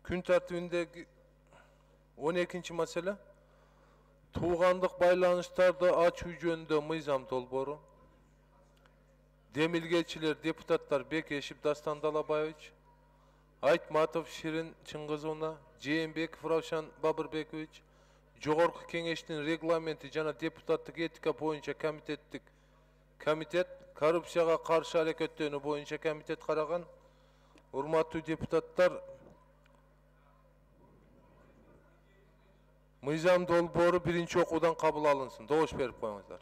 Күн тартибиндеги 12-нчи маселе туугандык байланыштарды ачуу жөнүндө мыйзам долбоору. Демилгечилер депутаттар Бекешев Дастан Далабаевич, Айтматов Ширин Чыңгызовна, Жээнбеков Равшан Бабырбекович, Жогорку кеңештин регламенти жана депутаттык этика боюнча комитет коррупцияга каршы аракеттөнүү боюнча комитет караган. Урматтуу депутаттар, мыйзам долбоору биринчи окуудан кабыл алынсын. Добуш берип коюңуздар.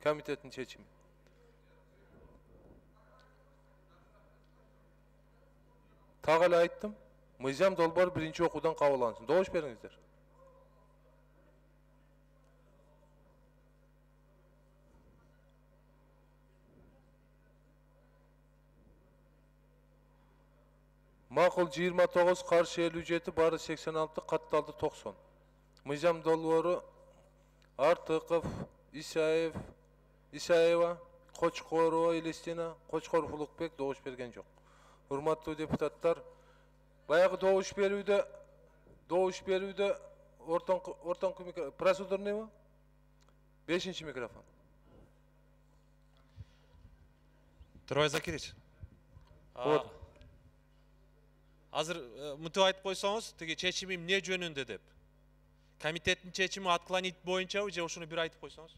Комитеттин чечими. Так эле айттым. Мыйзам долбоору биринчи окуудан кабыл алынсын. Добуш бериңиздер. Макул 29, каршы 57, бары 86, катталды 90. Мыйзам долбоору Артыков, Исаева, Кочкорова Елестина, Кочкоров Улукбек добуш берген жок. Урматтуу депутаттар, баягы добуш берүүдө ортоңку микрофон, процедурныйбы? 5-нчи микрофон. Трой Закирич. Азыр мынтип айтып койсоңуз, тиги чечими эмне жөнүндө деп. Комитеттин чечими отклонить боюнчабы же ушуну бир айтып койсоңуз?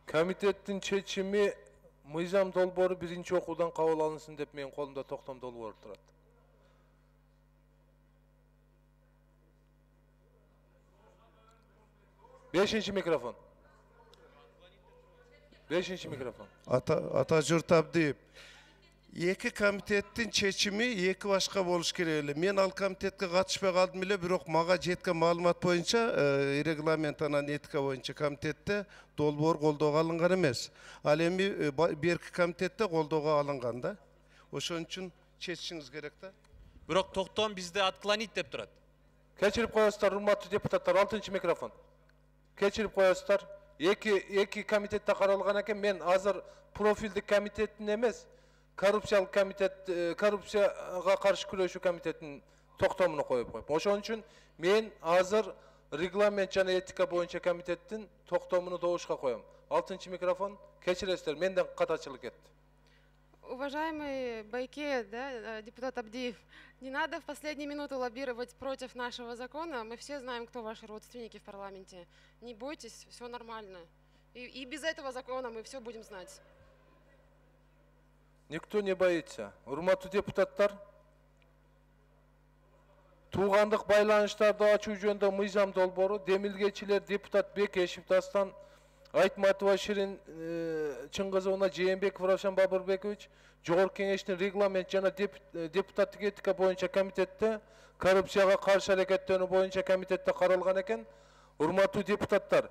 Комитеттин чечими мыйзам долбоору биринчи окуудан кабыл алынсын деп менин колумда токтом долбоору турат. Бешинчи микрофон. Ата журт Абдиев. Эки комитеттин чечими эки башка болуш керек эле. Мен ал комитетке катышпай калдым эле, бирок мага жеткен маалымат боюнча регламент анан этика боюнча комитетте долбоор колдоого алынган эмес. Ал эми берки комитетте колдоого алынган да. Ошон үчүн чечишиңиз керек да. Бирок токтом бизде отклонить деп турат. Кечирип коесуздар, урматтуу депутаттар, 6-нчы микрофон. Кечирип коесуздар. Эки комитетте каралган экен, мен азыр профилдик комитеттин эмес, коррупциялык комитет, коррупцияга каршы күрөшүү комитетинин токтомуну коюп коюп. Ошон үчүн мен азыр регламент жана этика боюнча комитеттин токтомуну добушка коем. 6-нчы микрофон, кечиресиздер, менден катачылык кетти. Уважаемый Байке, да, депутат Абдиев, не надо в последнюю минуту лоббировать против нашего закона. Мы все знаем, кто ваши родственники в парламенте. Не бойтесь, все нормально. И без этого закона мы все будем знать. Никто не боится. Урматтуу депутаттар, туугандык байланыштарды ачуу жөнүндө мыйзам долбоору демилгечилер депутат Бекешев Дастан, Айтматова Ширин Чыңгызовна, Жээнбеков Равшан Бабырбекович, Жогорку кеңештин регламент жана депутаттык этика боюнча комитетте коррупцияга каршы аракеттөнүү боюнча комитетте каралган экен. Урматтуу депутаттар,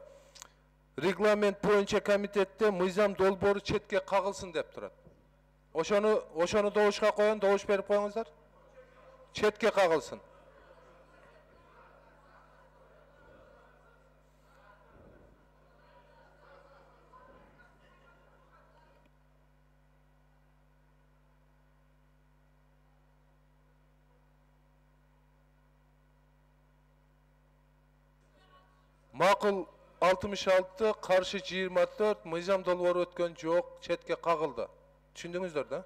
регламент боюнча комитетте мыйзам долбоору четке кагылсын деп турат. Ошону добушка коем, добуш берип коюңуздар. Четке кагылсын. Макул 66, каршы 24, мыйзам долбоору өткөн жок, четке кагылды. Түшүндүңүздөр да?